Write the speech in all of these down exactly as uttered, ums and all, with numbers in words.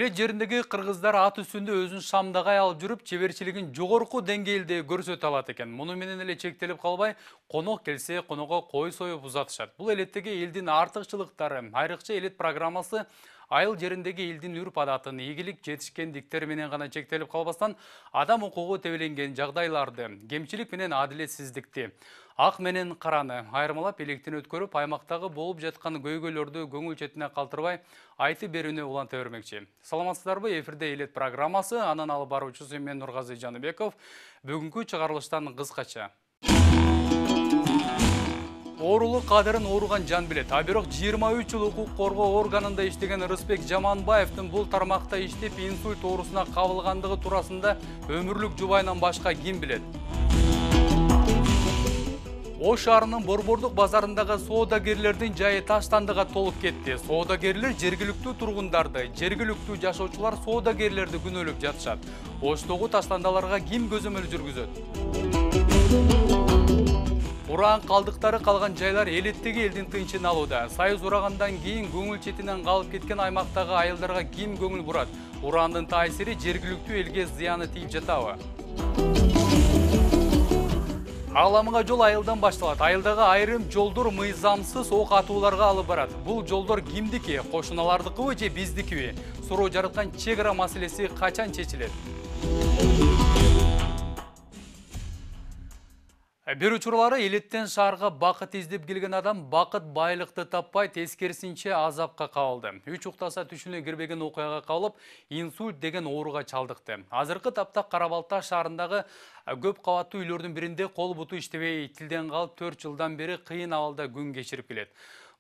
Элет жериндеги кыргыздар ат үстүндө өзүн шамдагай алып жүрүп, чеберчилигин жогорку деңгээлде көрсөтө алат экен. Муну менен эле чектелип калбай, конок келсе, коного кой союп узатышат. Бул элеттеги элдин артыкчылыктары. Айрыкча элет программасы айыл жериндеги элдин үрп адатын, ийгилик жетишкендиктер менен гана чектелип калбастан, адам укугу тебеленген жагдайларды, кемчилик менен адилетсиздикти, ак менен караны айырмалап электен өткөрүп, аймактагы болуп жаткан көйгөйлөрдү көңүл четине калтырбай айтып берүүнү уланта бермекчи. Саламатсыздарбы? Эфирде элет программасы, анын алып баруучусу мен Нургазы Жаныбеков. Бүгүнкү чыгарылыштан кыскача. Оорулук кадырын ооруган жан билет. А бирок жыйырма үч жыл укук коргоо органында иштеген Рыспек Жаманбаевдин бул тармакта иштеп инсульт оорусуна кабылгандыгы туурасында өмүрлүк жубайынан башка ким билет? Ош шаарынын Борбордук базарындагы соодагерлердин жайы таштандыга толуп кетти. Соодагерлер жергиликтүү тургундарды, жергиликтүү жашоочулар соодагерлерди күнөөлөп жатышат. Оштогу таштандаларга ким көзөмөл жүргүзөт? Ураан калдыктары калган жайлар элеттеги элдин тынчын алууда. Сайыз урагандан кийин көңүл четинен калып кеткен аймактагы айылдарга ким көңүл бурат? Ураандын таасири жергиликтүү элге зыяны тийип жатабы? Ааламга жол айылдан башталат. Айылдагы айрым жолдор мыйзамсыз ок атууларга алып барат. Бул жолдор кимдики? Кошуналардыкыбы же биздикиби? Суроо жараткан чек ара маселеси качан чечилет? Бир учурлары элеттен шаарга бакыт издеп келген адам бакыт байлыкты таппай, тескерисинче азапка кабылды. Үч уктаса түшүнө кирбеген окуяга кабылып, инсульт деген ооруга чалдыкты. Азыркы тапта Кара-Балта шаарындагы көп кабаттуу үйлөрдүн биринде кол буту иштебей, тилден калып төрт жылдан бери кыйын абалда күн кечирип келет.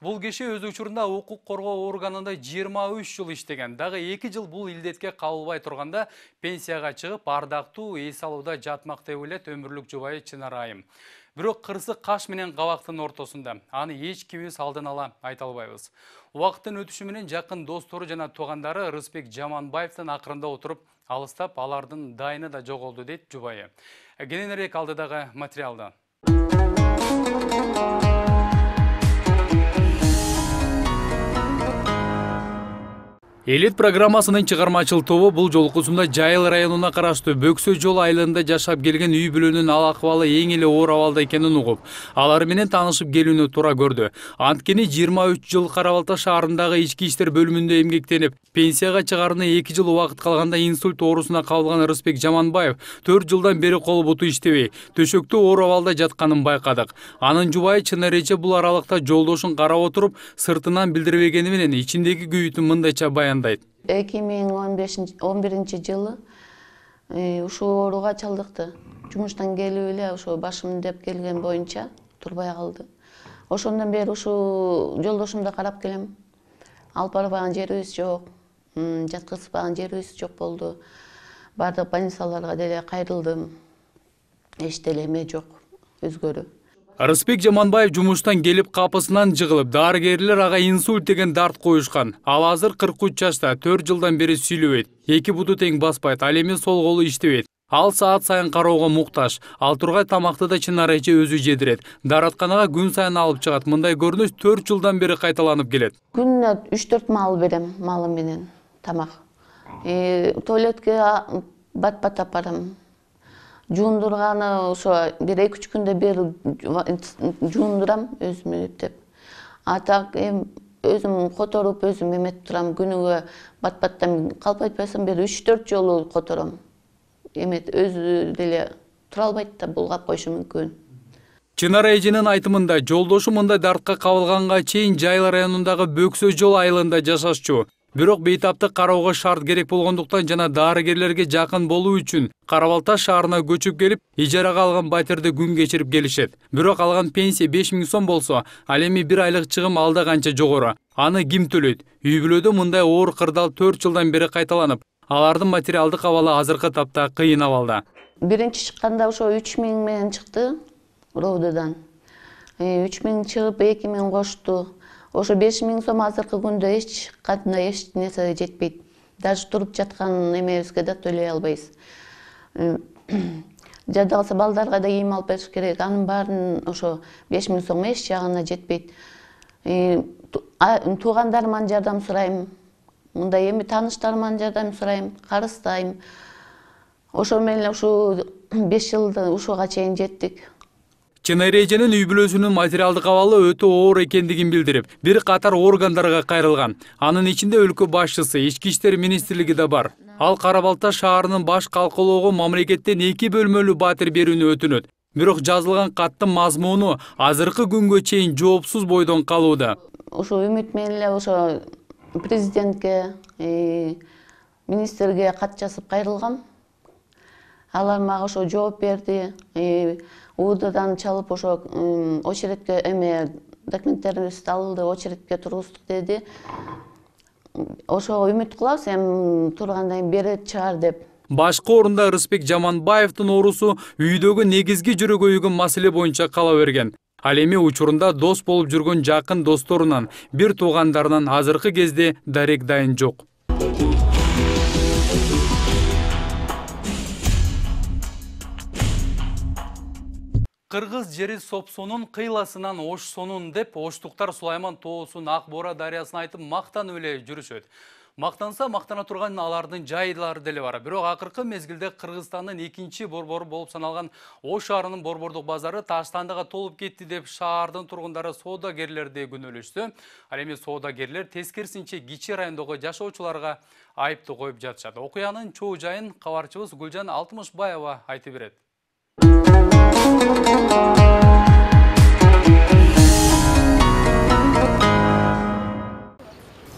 Бул киши өз учурунда укук коргоо органында жыйырма үч жыл иштеген. Дагы эки жыл бул илдетке кабылбай турганда пенсияга чыгып, ардактуу эс алууда жатмак деп ойлойт өмүрлүк жубайы Чынар Айым. Бирок кырсык каш менен кабактын ортосунда. Аны эч кимибиз алдын ала айта албайбыз. Убакыттын өтүшү менен жакын достору жана туугандары Рыспек Жаманбаевдин акырында отуруп, алыстап, алардын дайыны да жоголду дейт жубайы. Кененирээк алдыдагы материалда. Элет программасынын чыгармачыл тобу бул жолкусунда Жайыл районуна караштуу Бөксө жол айылында жашап келген үй бүлөнүн ал акыбалы эң эле оор абалда экенин угуп, алар менен таанышып келүүнү туура көрдү. Анткени жыйырма үч жыл Кара-Балта шаарындагы ички иштер бөлүмүндө эмгектенип, пенсияга чыгарына эки жыл убакыт калганда инсульт оорусуна кабылган Рыспек Жаманбаев төрт жылдан бери кол буту иштебей, төшөктө оор абалда жатканын байкадык. Анын жубайы Чынар эже бул аралыкта жолдошун карап отуруп, сыртынан билдирбегени менен ичиндеги күйүүтүн мындайча баяндайт. эки миң он биринчи жылы ушул ооруга чалдыкты. Жумуштан келип эле ошо башым деп келген боюнча турбай калды. Ошондон бери ушул жолдошумду карап келем. Алып барбаган жерибиз жок, жаткызбаган жерибиз жок болду. Бардык больницаларга деле кайрылдым. Эч деле эме жок, өзгөрүү. Рыспек Жаманбаев жумуштан келип капысынан жыгылып, дарыгерлер ага инсульт деген дарт коюшкан. Ал азыр кырк үч жашта, төрт жылдан бери сүйлөбөйт. Эки буту тең баспайт, ал эми сол колу иштебейт. Ал саат сайын кароого муктаж. Ал тургай тамакты да Чынар эже өзү жедирет. Дааратканага күн сайын алып чыгат. Мындай көрүнүш төрт жылдан бери кайталанып келет. Күнүнө үч төрт мал берем, малым менен тамак. Туалетке бат-бат барам. Жуундурганы ошо бир эки үч күндө бир жуундурам өзүмө деп. А так эми өзүм которуп, өзүм эметип турам. Күнүгө бат-баттан калп айтпасам бир үч төрт жолу котором. Эмет өзү деле тура албайт да, булгап коюшу мүмкүн. Чынар эженин айтымында жолдошу мындай дартка кабылганга чейин Жайыл районундагы Бөксө жол айылында жашашчу. Бирок бейтаптык кароого шарт керек болгондуктан жана дарыгерлерге жакын болуу үчүн Кара-Балта шаарына көчүп келип, ижарага алган батирде күн кечирип келишет. Бирок алган пенсия беш миң сом болсо, ал эми бир айлык чыгым алда канча жогору. Аны ким төлөйт? Үй бүлөдө мындай оор кырдаал төрт жылдан бери кайталанып, алардын материалдык абалы азыркы тапта кыйын абалда. Биринчи чыкканда ошо үч миң менен чыкты Ровдодан. үч миң чыгып эки миң кошту. Ошо беш миң сом азыркы күндө эч кандай эч нерсе жетпейт. Даже туруп жаткан эмебизге да төлөй албайбыз. Жада калса балдарга да кийим алып бериш керек. Анын баарын ошо беш миң сом эч жагына жетпейт. Туугандарыман жардам сурайм. Мындай эми тааныштарыман жардам сурайм, карыстайм. Ошо менен ушу беш жылды ушуга чейин жеттик. Чынар эженин үй бүлөсүнүн материалдык абалы өтө оор экендигин билдирип, бир катар органдарга кайрылган. Анын ичинде өлкө башчысы, Ички иштер министрлиги да бар. Ал Кара Балта шаарынын баш калкалоого мамлекеттен эки бөлмөлүү батир берүүнү өтүнөт. Бирок жазылган каттын мазмуну азыркы күнгө чейин жоопсуз бойдон калууда. Ошо үмүт менен эле ошо президентке, министрге кат жазып кайрылгам. Алар мага ошо жооп берди. УДдан чалып ошо очередке эме документтерибизди алды, очередке тургуздук деди. Ошого үмүт кылабыз, эми тургандан кийин берет чыгар деп. Башкы орунда Рыспек Жаманбаевдин оорусу үйдөгү негизги жүрөгөйгөн маселе боюнча кала берген. Ал эми учурунда дос болуп жүргөн жакын досторунан, бир туугандарынан азыркы кезде дарек дайын жок. Кыргыз жери Сопсонун кыйласынан ошсонун деп оштуктар Сулайман тоосун Ак Бора дарыясына айтып мактанып эле жүрүшөт. Мактанса мактана турган алардын жайлары деле бар. Бирок акыркы мезгилде Кыргызстандын экинчи борбору болуп саналган Ош шаарынын борбордук базары таштандыга толуп кетти деп шаардын тургундары соодагерлерди күнөөлөштү. Ал эми соодагерлер тескерисинче кичи райондогу жашоочуларга айыптуу коюп жатышат. Окуянын чоо жайын кабарчыбыз Гүлжан Алтымышбаева айтып берет.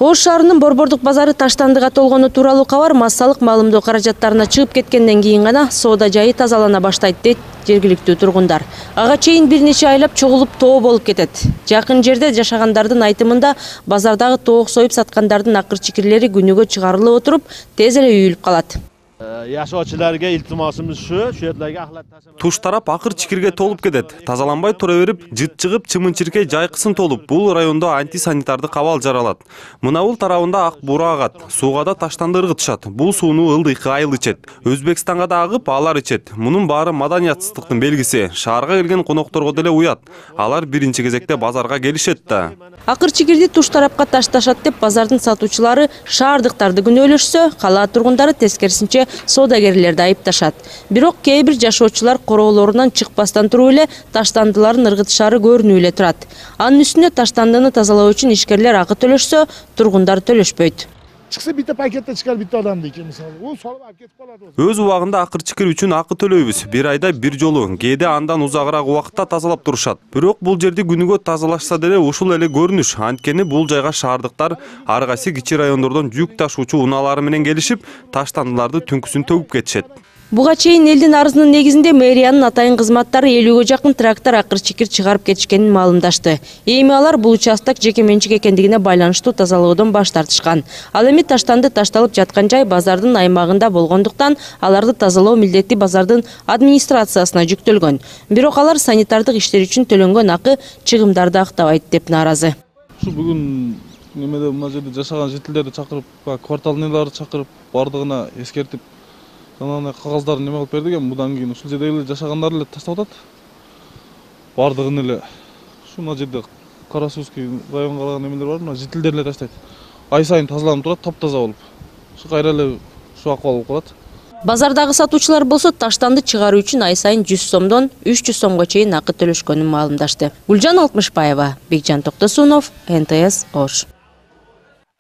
Ош шаарынын борбордук базары таштандыга толгону тууралуу кабар массалык маалымдоо каражаттарына чыгып кеткенден кийин гана соода жайы тазалана баштайт дейт жергиликтүү тургундар. Ага чейин бир нече айлап чогулуп тоо болуп кетет. Жакын жерде жашагандардын айтымында базардагы тоок союп саткандардын акыр чикирлери күнүгө чыгарылып отуруп, тез эле үйүлүп калат. Yaşochilarga iltimosimiz shu, shu yerlarga axlat tashlamaydi. Туш тарап акыр чикирге толуп кетет. Тазаланбай тура берип, жыт чыгып, чымын-чиркей жайкысын толуп, бул райондо антисанитардык абал жаралат. Мынабул тарабында ак бура агат, сууга да таштанды ыргытышат. Бул сууну ылдыйкы айыл ичет. Өзбекстанга да агып, алар ичет. Мунун баары маданиятсыздыктын белгиси. Шаарга келген конокторго деле уят. Алар биринчи кезекте базарга келишет да. Акыр чикирди туш тарапка ташташат деп базардын сатуучулары шаардыктарды күнөөлөшсө, кала тургундары тескерисинче соодагерлерди айыпташат. Бирок кээ бир жашоочулар короолорунан чыкпастан туруп эле таштандыларын ыргытышары көрүнүп эле турат. Анын үстүнө таштандыны тазалоо үчүн ишкерлер акы төлөшсө, тургундар төлөшпөйт. Çıksa bitta pakette çıkar bitta adam deyken misal. O salып alып кетип калат. Өз убагында акыр чикир үчүн акы төлөйбүз. Бир айда бир жолу, кээде андан узагыраак убакытта тазалап турушат. Бирок бул жерди күнүгө тазалашса деле ушул эле көрүнүш. Анткени бул жайга шаардыктар ар кайсы кичи райондордон жүк ташуучу унаалары менен келишип, таштандыларды түнкүсүн төгүп кетишет. Буга чейин элдин арызынын негизинде мэриянын атайын кызматтары элүүгө жакын трактор акыр чикир чыгарып кетишкенин маалымдашты. Эми алар бул участок жеке менчик экендигине байланыштуу тазалоодон баш тартышкан. Ал эми таштанды ташталып жаткан жай базардын аймагында болгондуктан аларды тазалоо милдети базардын администрациясына жүктөлгөн. Бирок алар санитардык иштер үчүн төлөнгөн акы чыгымдарды актабайт деп нааразы. Ушу бүгүн немеде мына жерде жашаган жителдерди чакырып, кварталныйларды чакырып, бардыгына эскертип Анан кагаздарын неме кылып бердик, мындан кийин ушул жерде эле жашагандар эле таштап атат. Бардыгын эле ушу мына жерде Карасуский районго калган немелер бар, мына жителдер эле таштайт. Ай сайын тазаланып турат, таптаза болуп. Ушу кайра эле ушу акыбал болуп калат. Базардагы сатуучулар болсо таштанды чыгаруу үчүн ай сайын жүз сомдон үч жүз сомго чейин акы төлөшкөнүн маалымдашты. Гүлжан Алтымышбаева, Бекжан Токтосунов, эн тэ эс Ош.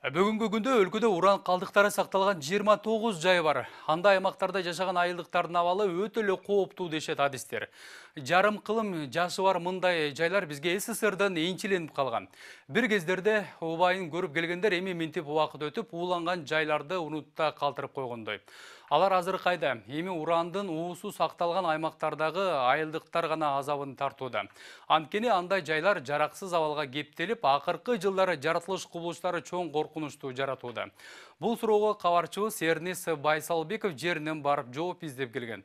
Бүгүнкү күндө өлкөдө уран калдыктары сакталган жыйырма тогуз жай бар. Андай аймактарда жашаган айылдыктардын абалы өтө эле кооптуу дешет адистер. Жарым кылым жашы бар мындай жайлар бизге эс эс эрден энчиленип калган. Бир кездерде убайын көрүп келгендер эми минтип убакыт өтүп, ууланган жайларды унутта калтырып койгондой. Алар азыр кайда? Эми урандын уусу сакталган аймактардагы айылдыктар гана азабын тартууда. Анткени андай жайлар жараксыз абалга кептелип, акыркы жылдары жаратылыш кубулуштары чоң коркунучту жаратууда. Бул суроого кабарчыбыз Эрнис Байсалбеков жеринен барып жооп издеп келген.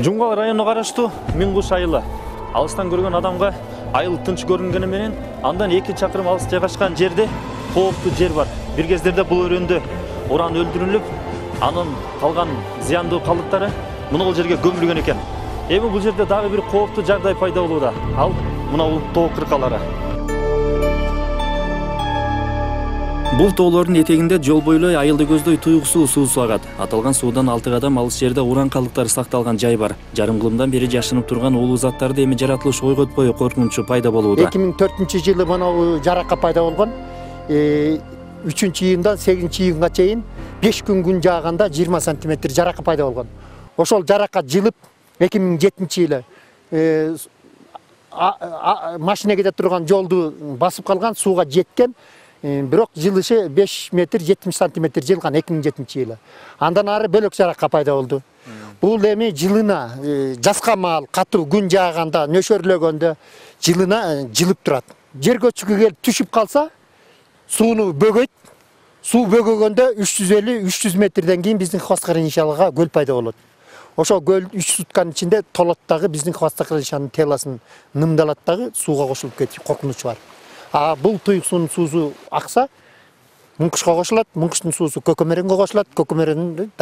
Жумгал районуна караштуу Миң Куш айылы. Алыстан көргөн адамга айыл тынч көрүнгөнү менен андан эки чакырым алыс жайгашкан жерде кооптуу жер бар. Бир кездерде бул өрөөндө уран өлтүрүлүп, анын калган зыяндуу калдыктары мына бул жерге көмүлгөн экен. Эми бул жерде дагы бир кооптуу жагдай пайда болууда. Ал мына бул тоо кыркалары. Бул тоолордун этегинде жол бойлой айылды көздөй туюк суу суусу агат. Аталган суудан алты кадам алыс жерде уран калдыктары сакталган жай бар. Жарым кылымдан бери жашынып турган улуу заттарды эми жаратылыш ойготпой коркунучу пайда болууда. эки миң төртүнчү жылы мына жаракка пайда болгон. үчүнчү июндан сегизинчи июнга чейин беш күн күн жааганда жыйырма сантиметр жаракка пайда болгон. Ошол жаракка жылып эки миң жетинчи жылы машина кете турган жолду басып калган, сууга жеткен. Бирок жылышы беш метр жетимиш сантиметр жылган эки миң жетинчи жылы. Андан ары бөлөк жаракка пайда болду. Бул эми жылына жазга маал катуу күн жааганда, нөшөрлөгөндө жылына жылып турат. Жер көчкүгө келип түшүп калса, сууну бөгөйт. Суу бөгөгөндө үч жүз элүү үч жүз метрден кийин биздин Хвостокрыльничалыга көл пайда болот. Ошол көл үч сутканын ичинде толот дагы биздин Хвостокрыльничанын теласын нымдалат дагы сууга кошулуп кетип коркунучу бар. А бул туюк суунун суусу акса, Муңкушка кошулат, Муңкуштун суусу Көкөмөрөнгө кошулат, Көкөмөрөндүн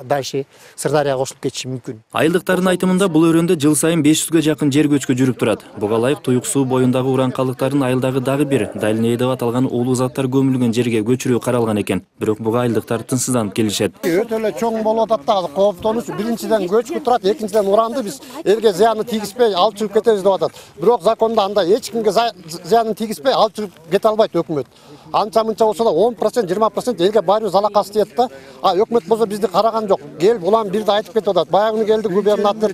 дальше Сырдарыяга кошулуп кетиши мүмкүн. Айылдыктардын айтымында бул өрөөндө жыл сайын беш жүзгө жакын жер көчкү жүрүп турат. Буга ылайык туюк суу боюндагы уран калдыктарын айылдагы дагы бир Дальнее деп аталган улуу заттар көмүлгөн жерге көчүрүү каралган экен. Бирок буга айылдыктар тынчсызданып келишет. Өтө эле чоң болуп атат да, кооптонуш. Биринчиден көчкү турат, экинчиден уранды биз элге зыяны тийгизбей алып чыгып кетебиз деп атат. Бирок закондо андай эч кимге зыянын тийгизбей алып чыгып кете албайт өкмөт. Анча мынча болсо да он процент жыйырма процент элге баары залакасы тиет да. А өкмөт болсо бизди караган жок. Келип улам бирди айтып кетип атат. Баягы келди губернатор,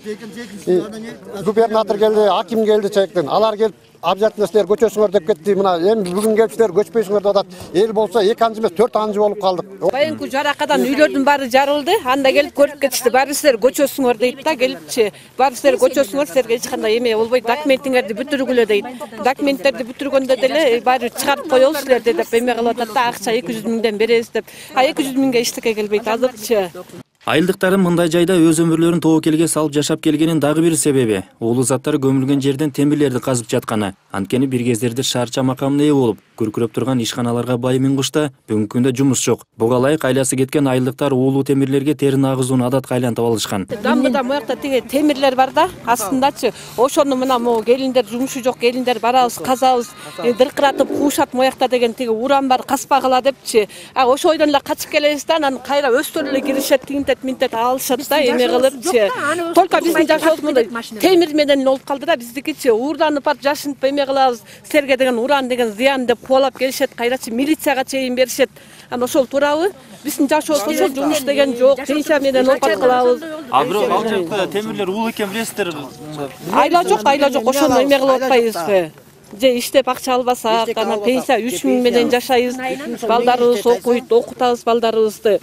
губернатор келди, аким келди чектен. Алар келип обязательно силер көчөсүңөр деп кетти. Мына эми бүгүн келип силер көчпөйсүңөр деп атат. Эл болсо эки анчы эмес төрт анчы болуп калдык. Байынкы жаракадан үйлөрдүн баары жарылды. Анда келип көрүп кетишти. Баары силер көчөсүңөр дейт да, келипчи. Баары силер көчөсүңөр, силерге эч кандай эме болбойт. Документиңерди бүтүргүлө дейт. Документтерди бүтүргөндө деле баары чыгарып коелу силерди деп эме кылып атат да, акча эки жүз миңден беребиз деп. А эки жүз миңге эчтеке келбейт азырчы. Айылдыктардын мындай жайда өз өмүрлөрүн тобокелге салып жашап келгенин дагы бир себеби улуу заттар көмүлгөн жерден темирлерди казып жатканы. Анткени бир кездерде шаарча макамына ээ болуп, күркүрөп турган ишканаларга бай Миң Кушта бүгүнкү күндө жумуш жок. Буга ылайык айласы кеткен айылдыктар улуу темирлерге терин агызууну адатка айлантып алышкан. Дамбыда моякта тиги темирлер бар да, астындачы. Ошону мына могу келиндер жумушу жок, келиндер барабыз, казабыз, дыркыратып куушат моякта деген тиги уран бар, каспагыла депчи. А ошол ойдон эле качып келебиз да, анан кайра өздөрү эле киришет, тинтет, минтет алышат да, эме кылыпчы. Только биздин жашообуз мындай темир менен болуп калды да, биздикичи уурданып барып жашынып эме кылабыз. Силерге деген уран деген зыян деп кубалап келишет, кайрачы милицияга чейин беришет. Анан ошол туурабы? Биздин жашообуз ошол, жумуш деген жок, пенсия менен оокат кылабыз. А бирок ал жакта темирлер уулу экен билесиздер. Айла жок, айла жок, ошону эме кылып атпайбызбы? Же иштеп акча албасак, анан пенсия үч миң менен жашайбыз. Балдарыбыз окуйт, окутабыз балдарыбызды.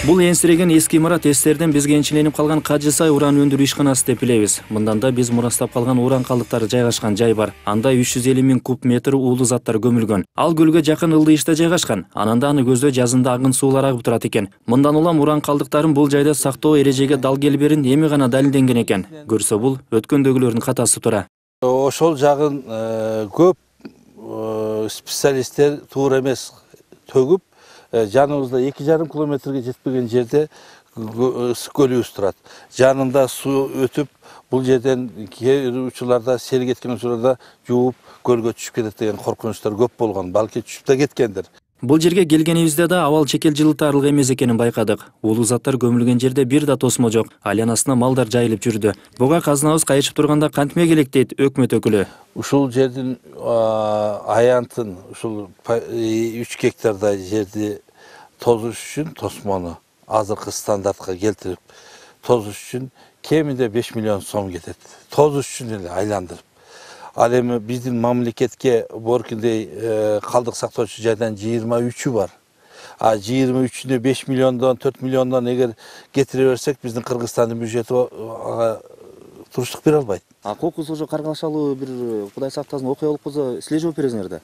Бул энсиреген эски имарат эстерден бизге энчиленип калган Кажы Сай уран өндүрүү ишканасы деп билебиз. Мынданда биз мурастап калган уран калдыктары жайгашкан жай бар. Анда үч жүз элүү миң куб метр уулуу заттар көмүлгөн. Ал көлгө жакын Ылдыйышта жайгашкан. Анан да аны көздөй жазында агын суулар агып турат экен. Мындан улам уран калдыктарын бул жайда сактоо эрежеге дал келберин эми гана далилденген экен. Көрсө бул өткөндөгүлөрдүн катасы тура. Ошол жагын көп специалисттер туура эмес төгүп, жаныбызда эки жарым километрге жетпеген жерде көлүбүз турат. Жанында суу өтүп, бул жерден кээ учурларда сел кеткен учурларда жууп көлгө түшүп кетет деген коркунучтар көп болгон. Балки түшүп да кеткендир. Бул жерге келгенибизде да абал чекел жылытарлык эмес экенин байкадык. Улуу заттар көмүлгөн жерде бир да тосмо жок. Айланасына малдар жайылып жүрдү. Буга казнабыз кайышып турганда кантме келек дейт өкмөт өкүлү. Ушул жердин аянтын, ушул үч гектардай жерди тозуш үчүн тосмону азыркы стандартка келтирип тозуш үчүн кеминде беш миллион сом кетет. Тозуш үчүн эле айландырып. Ал эми биздин мамлекетке боркиндей калдык сактоочу жайдан жыйырма үчү бар. А жыйырма үчүнө беш миллиондон төрт миллиондон эгер кетире берсек, биздин Кыргызстандын бюджети туруштук бере албайт. А кокус ошо каргашалуу бир Кудай сактасын окуя болуп калса, силер жооп бересиңер да?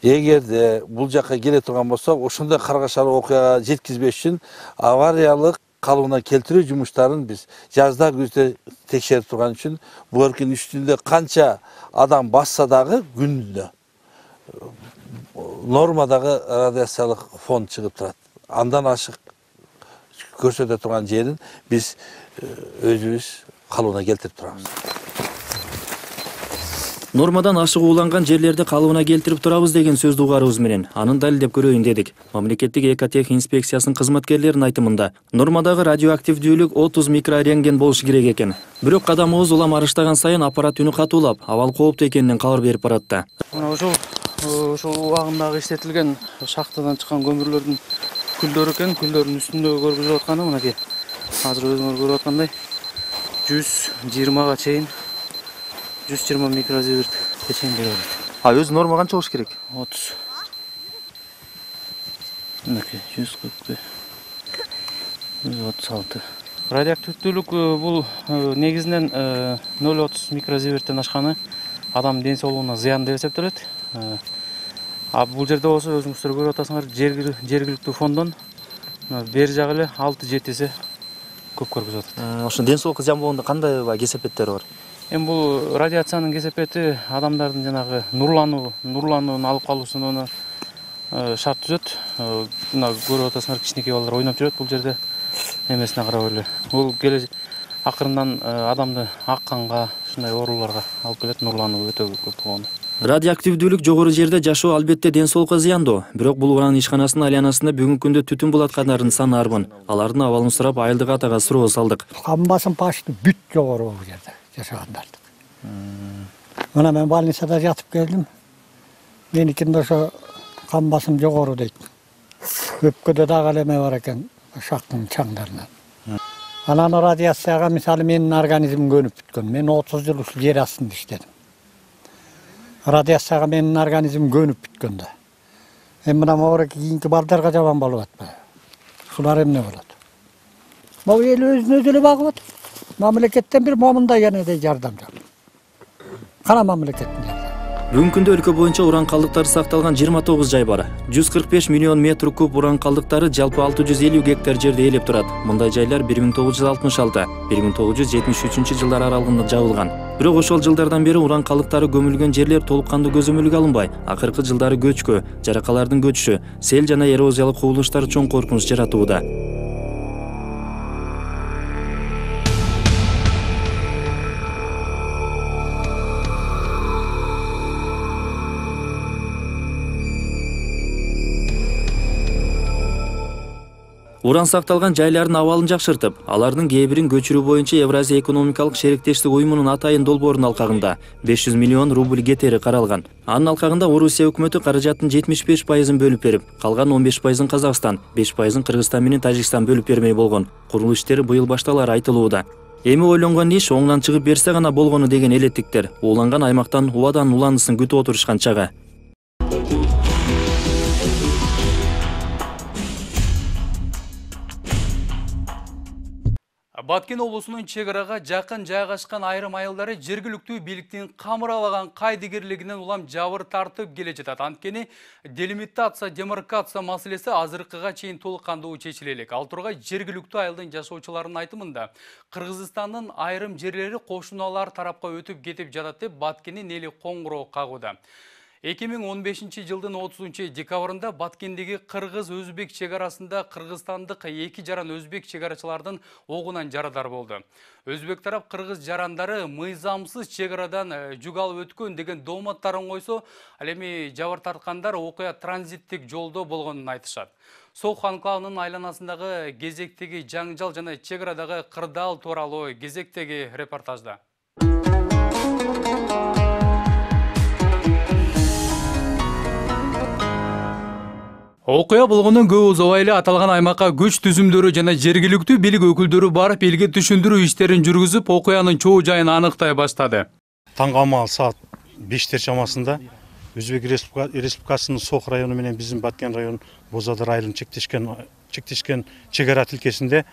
Эгерде бул жакка келе турган болсок, ошондой каргашалуу окуяга жеткизбеш үчүн авариялык калыбына келтирүү жумуштарын биз жазда күздө текшерип турган үчүн буеркин үстүндө канча адам басса дагы күндө нормадагы радиациялык фон чыгып турат. Андан ашык көрсөтө турган жерин биз өзүбүз калыбына келтирип турабыз. Нормадан ашык ууланган жерлерди калыбына келтирип турабыз деген сөздү угарыбыз менен анын далилдеп көрөйүн дедик. Мамлекеттик экотех инспекциясынын кызматкерлеринин айтымында нормадагы радиоактивдүүлүк отуз микрорентген болушу керек экен. Бирок кадамыбыз улам арыштаган сайын аппарат үнү катуулап, абал кооптуу экенинен кабар берип баратты. Мына ошол ошол убагындагы иштетилген шахтадан чыккан көмүрлөрдүн күлдөрү экен. Күлдөрдүн үстүндөгү көргүзүп атканы мынакей. Азыр өзүңөр көрүп аткандай жүз жыйырмага чейин жүз жыйырма микрозиверт чейин берет. А өзү норма канча болуш керек? отуз. Мынакей жүз кырк жүз отуз алты. Радиоактивдүүлүк бул негизинен ноль отуз микрозиверттен ашканы адам ден соолугуна зыян деп эсептелет. А бул жерде болсо өзүңүздөр көрүп атасыңар, жергиликтүү фондон бери жагы эле алты жети эсе көп көргүзүп атат. Ошо ден соолукка зыян болгондо кандай кесепеттери бар? Эми бул радиациянын кесепети адамдардын жанагы нурлануу, нурланууну алып калуусуна шарт түзөт. Мына көрүп атасыңар, кичинекей балдар ойноп жүрөт бул жерде эмесине карап эле. Бул келе акырындан адамды ак канга, ушундай ооруларга алып келет, нурлануу өтө көп болгондо. Радиоактивдүүлүк жогору жерде жашоо албетте ден соолукка зыяндуу. Бирок бул уран ишканасынын айланасында бүгүнкү күндө түтүн булаткандардын саны арбын. Алардын абалын сурап Айылдык атага суроо салдык. Кан басым почти бүт жогору бул жерде жашагандарды. Мына мен больницада жатып келдим. Меникинде ошо кан басым жогору дейт. Өпкөдө дагы элеме бар экен, шактын чаңдарынан. Анан радиацияга мисалы менин организмим көнүп бүткөн. Мен отуз жыл ушул жер астында иштедим. Радиацияга менин организмим көнүп бүткөн да. Эми мына могу кийинки балдарга жаман болуп атпайбы? Ушулар эмне болот? Могу эл өзүн өзү эле багып атат. Мамлекеттен бир момундай энедей жардам жок. Кана мамлекеттин жардамы. Бүгүнкү күндө өлкө боюнча уран калдыктары сакталган жыйырма тогуз жай бар. жүз кырк беш миллион метр куб уран калдыктары жалпы алты жүз элүү гектар жерди ээлеп турат. Мындай жайлар бир миң тогуз жүз алтымыш алты — бир миң тогуз жүз жетимиш үчүнчү жылдар аралыгында жабылган. Бирок ошол жылдардан бери уран калдыктары көмүлгөн жерлер толук кандуу көзөмөлгө алынбай, акыркы жылдары көчкү, жаракалардын көчүшү, сел жана эрозиялык кубулуштар чоң коркунуч жаратууда. Уран сакталган жайлардын абалын жакшыртып, алардын кээ бирин көчүрүү боюнча Евразия экономикалык шериктештик уюмунун атайын долбоорунун алкагында беш жүз миллион рубль кетери каралган. Анын алкагында Орусия өкмөтү каражаттын жетимиш беш пайызын бөлүп берип, калган он беш пайызын Казакстан, беш пайызын Кыргызстан менен Тажикстан бөлүп бермей болгон. Курулуу иштери быйыл башталары айтылууда. Эми ойлонгон иш оңдон чыгып берсе гана болгону деген элеттиктер ууланган аймактан убадан уландысын күтүп отурушкан чагы. Баткен облусунун чек арага жакын жайгашкан айрым айылдары жергиликтүү бийликтин камыралаган кайдыгерлигинен улам жабыр тартып келе жатат. Анткени делимитация, демаркация маселеси азыркыга чейин толук кандуу чечиле элек. Ал тургай жергиликтүү айылдын жашоочуларынын айтымында Кыргызстандын айрым жерлери кошуналар тарапка өтүп кетип жатат деп Баткендин эли коңгуроо кагууда. эки миң он бешинчи жылдын отузунчу декабрында Баткендеги кыргыз-өзбек чек арасында кыргызстандык эки жаран өзбек чек арачылардын огунан жарадар болду. Өзбек тарап кыргыз жарандары мыйзамсыз чек арадан жүк алып өткөн деген дооматтарын койсо, ал эми жабыр тарткандар окуя транзиттик жолдо болгонун айтышат. Сок анклавынын айланасындагы кезектеги жаңжал жана чек арадагы кырдаал тууралуу кезектеги репортажда. Окуя болгондон көп узабай эле аталган аймакка күч түзүмдөрү жана жергиликтүү бийлик өкүлдөрү барып элге түшүндүрүү иштерин жүргүзүп, окуянын чоо жайын аныктай баштады. Таңгамал саат бештер чамасында Өзбек Республикасынын Сок району менен биздин Баткен району Бозадар айылын чектешкен чектешкен чек ара тилкесинде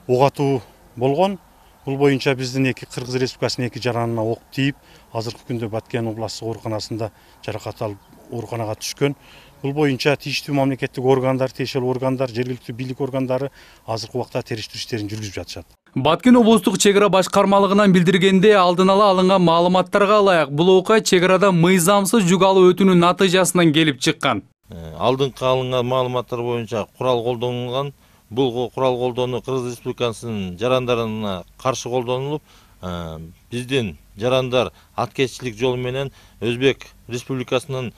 ок атуу болгон. Бул боюнча биздин эки Кыргыз Республикасынын эки жаранына ок тийип, азыркы күндө Баткен областык ооруканасында жаракат алып ооруканага түшкөн. Бул боюнча тийиштүү мамлекеттик органдар, тиешелүү органдар, жергиликтүү бийлик органдары азыркы убакта териштирүү иштерин жүргүзүп жатышат. Баткен облустук чек ара башкармалыгынан билдиргенде, алдын ала алынган маалыматтарга ылайык бул окуя чек арада мыйзамсыз жүк алуу өтүүнүн натыйжасынан келип чыккан. Алдыңкы алынган маалыматтар боюнча курал колдонулган. Бул курал колдонуу Кыргыз Республикасынын жарандарына каршы колдонулуп, биздин жарандар аткеччилик жолу менен Өзбек Республикасынын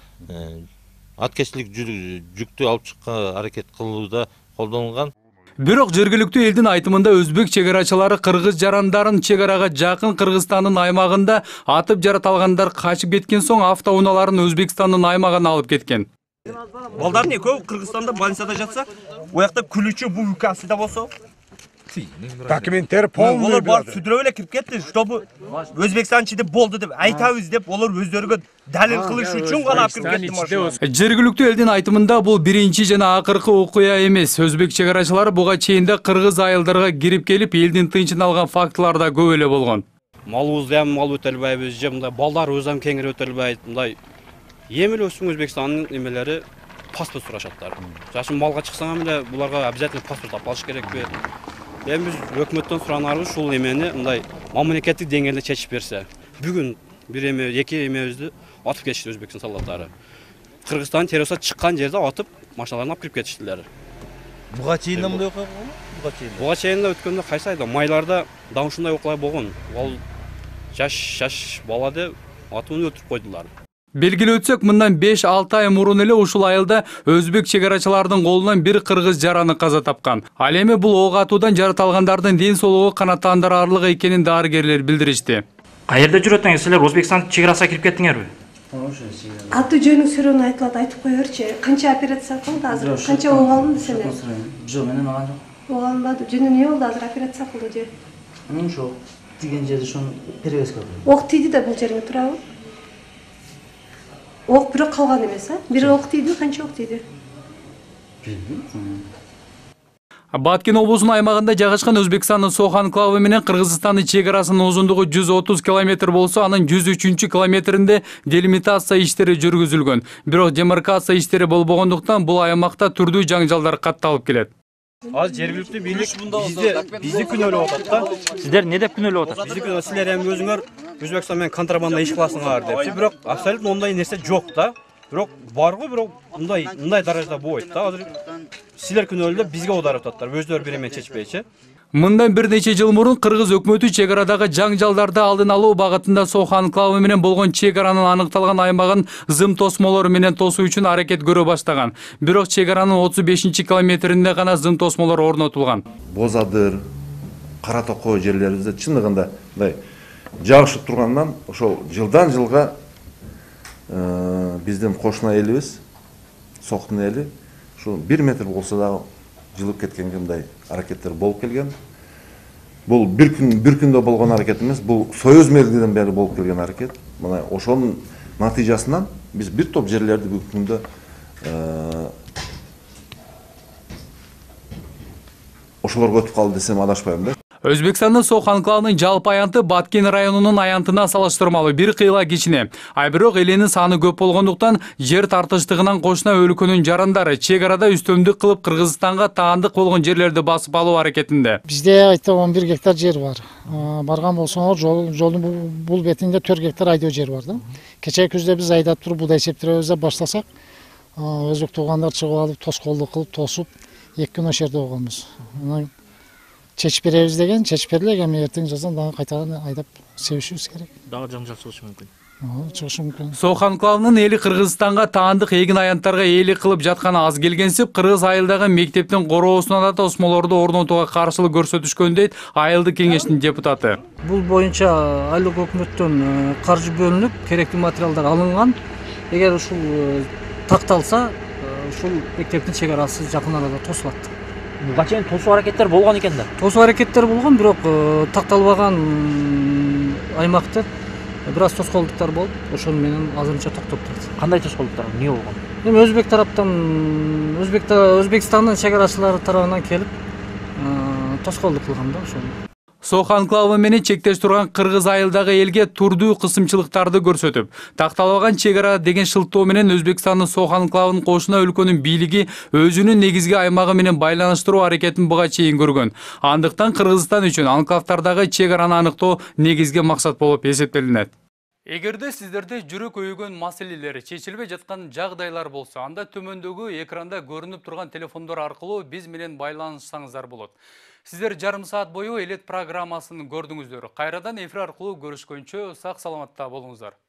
аткеччилик жүктү алып чыкканга аракет кылууда колдонулган. Бирок жергиликтүү элдин айтымында өзбек чек арачылары кыргыз жарандарын чек арага жакын Кыргызстандын аймагында атып жараталгандар качып кеткен соң автоунааларын Өзбекстандын аймагына алып кеткен. Балдардын экөө Кыргызстанда больницада жатса, оякта күлүүчү бубукасында болсо, документтер полный. Олар барып сүдүрөп эле кирип кетти, чтобы Өзбекстан ичинде болду деп айтабыз деп, олар өздөрүгө далил кылыш үчүн гана алып кирип кетти машина. Жергиликтүү элдин айтымында бул биринчи жана акыркы окуя эмес. Өзбек чек арачылары буга чейин да кыргыз айылдарга кирип келип, элдин тынчын алган фактылар да көп эле болгон. Малыбызды ham мал өтө албайбыз, же мындай балдар өзү ham кеңири өтө албайт, мындай эми эле өсүң Өзбекстандын эмелери паспорт сурашаттар. Жашын малга чыксаң эле буларга обязательно паспорт алып алыш керекпи? Эми биз өкмөттөн суранарыбыз ушул эмени мындай мамлекеттик деңгээлде чечип берсе. Бүгүн бир эме, эки эмебизди атып кетишти Өзбекстан солдаттары. Кыргызстан террористтер чыккан жерде атып, машиналарын алып кирип кетиштилер. Буга чейин да мындай окуя болгонбу? Буга чейин. Буга чейин да өткөндө кайсы айда майларда дагы ушундай окуя болгон. Ал жаш жаш балады атымын өлтүрүп койдулар. Белгилеп өтсөк, мындан беш алты ай мурун эле ушул айылда өзбек чек арачыларынын колунан бир кыргыз жараны каза тапкан. Ал эми бул ок атуудан жараталгандардын ден соолугу канааттандырарлык экенин дарыгерлер билдиришти. Каерде жүрөтүңүз? Силер Өзбекстан чек арасына кирип кеттиңерби? Аты жөнүң сүрөөнү айтылат, айтып коерчи. Канча операция кылды азыр? Канча ок алынды сенде? Жок, менен алган жок. Ок алынбады. Жөнү эмне болду азыр операция кылды же? Ошо тиген жерди ошону перевязка кылды. Ок тийди да бул жериңе турабы? Ок бирок калган эмес, а? Бир ок тийди, канча ок тийди? Баткен облусунун аймагында жайгашкан Өзбекстандын Сох анклавы менен Кыргызстандын чек арасынын узундугу жүз отуз километр болсо, анын жүз үчүнчү километринде делимитация иштери жүргүзүлгөн. Бирок демаркация иштери болбогондуктан бул аймакта түрдүү жаңжалдар катталып келет. Азыр жергиликтүү бийлик бизди бизди күнөөлөп атат да. Сиздер не деп күнөөлөп атасыз? Бизди күнөө силер эми өзүңөр Өзбекстан менен контрабанда иш кыласыңар деп. Бирок абсолютно ондай нерсе жок да. Бирок барбы, бирок мындай мындай даражада болбойт да. Азыр силер күнөөлөп бизге оодарып ататтар. Өздөрү бири менен чечпейчи. Мындан бир нече жыл мурун кыргыз өкмөтү чек арадагы жаңжалдарды алдын алуу багытында Сох анклавы менен болгон чек аранын аныкталган аймагын зым тосмолор менен тосуу үчүн аракет көрө баштаган. Бирок чек аранын отуз бешинчи километринде гана зым тосмолор орнотулган. Бозадыр, Кара Токой жерлерибизде чындыгында мындай жагышып тургандан ошол жылдан жылга биздин кошуна элибиз, Сохтун эли ушу бир метр болсо дагы жылып кеткенге мындай аракеттер болуп келген. Бул бир күн бир күндө болгон аракет эмес, бул Союз мезгилинен бери болуп келген аракет. Мына ошонун натыйжасынан биз бир топ жерлерди бүгүнкү күндө ошолорго өтүп калды десем адашпайм да. Өзбекстандын Сох анклавынын жалпы аянты Баткен районунун аянтына салыштырмалуу бир кыйла кичине. А бирок эленин саны көп болгондуктан жер тартыштыгынан кошуна өлкөнүн жарандары чек арада үстөмдүк кылып Кыргызстанга таандык болгон жерлерди басып алуу аракетинде. Бизде айта он бир гектар жер бар. Барган болсоңор жол жолдун бул бетинде төрт гектар айдоо жер бар да. Кечээ күздө биз айдап туруп буудай септиребиз деп баштасак, өзбек туугандар чыгып алып тоскоолдук кылып тосуп эки күн ошол жерде болгонбуз. Чечип беребиз деген, чечип берилек, эми эртең жаздан дагы кайтадан айдап себишибиз керек. Дагы жаңжал чыгышы мүмкүн. Чыгышы мүмкүн. Сох анклавынын эли Кыргызстанга таандык эгин аянттарга ээлик кылып жатканы аз келгенсип, кыргыз айылдагы мектептин короосуна да тосмолорду орнотууга каршылык көрсөтүшкөн дейт айылдык кеңештин депутаты. Бул боюнча айылдык өкмөттөн каржы бөлүнүп, керектүү материалдар алынган. Эгер ушул такталса, ушул мектептин чек арасы жакын арада тосулат. Буга чейин тосуу аракеттер болгон экен да. Тосуу аракеттер болгон, бирок такталбаган аймакты бир аз тоскоолдуктар болуп, ошол менен азырынча токтоп турат. Кандай тоскоолдуктар? Эмне болгон? Эми өзбек тараптан, Өзбектин Өзбекстандын чек арачылары тарабынан келип, тоскоолдук кылган да ошол. Сох анклавы менен чектеш турган Кыргыз айылдагы элге турдуу кысымчылыктарды көрсөтүп, такталбаган чек ара деген шылтоо менен Өзбекстандын Сох анклавын кошуна өлкөнүн бийлиги өзүнүн негизги аймагы менен байланыштыруу аракетин буга чейин көргөн. Андыктан Кыргызстан үчүн анклавдардагы чек араны аныктоо негизги максат болуп эсептелинет. Эгерде сиздерде жүрөк өйгөн маселелер чечилбей жаткан жагдайлар болсо, анда төмөндөгү экранда көрүнүп турган телефондор аркылуу биз менен байланышсаңыздар болот. Сиздер жарым саат бою элет программасын көрдүңүздөр. Кайрадан эфир аркылуу көрүшкөнчө сак саламатта болуңуздар.